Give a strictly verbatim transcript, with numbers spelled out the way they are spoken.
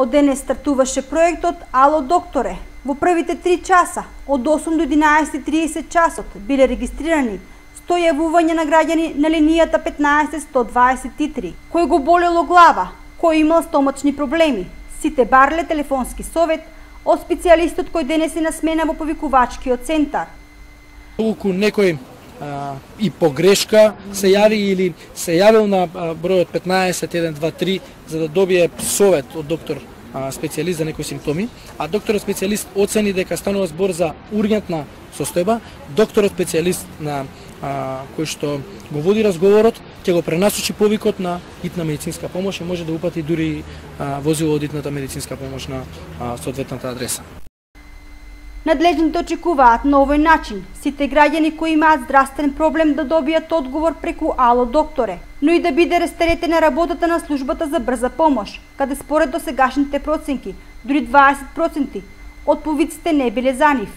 Од денес стартуваше проектот Ало докторе. Во првите три часа, од осум до единаесет и тридесет часот, биле регистрирани сто јавувања на граѓани на линијата петнаесет сто дваесет и три. Кој го болело глава, кој имал стомачни проблеми, сите барле телефонски совет од специјалистот кој денес е на смена во повикувачкиот центар. Оку некој а, и погрешка се јави или се јавил на а, бројот петнаесет еден два три за да добие совет од доктор а, специјалист за некои симптоми, а докторот специјалист оцени дека станува збор за ургентна состојба, докторот специјалист на а, кој што го води разговорот ќе го пренасочи повикот на итна медицинска помош и може да упати дури а, возило од итната медицинска помош на а, соодветната адреса. Надлежните очекуваат на овој начин сите граѓани кои имаат здравствен проблем да добијат одговор преку Ало докторе, но и да биде растеретена работата на службата за брза помош, каде според досегашните проценки, дури дваесет проценти од повиците не биле за нив.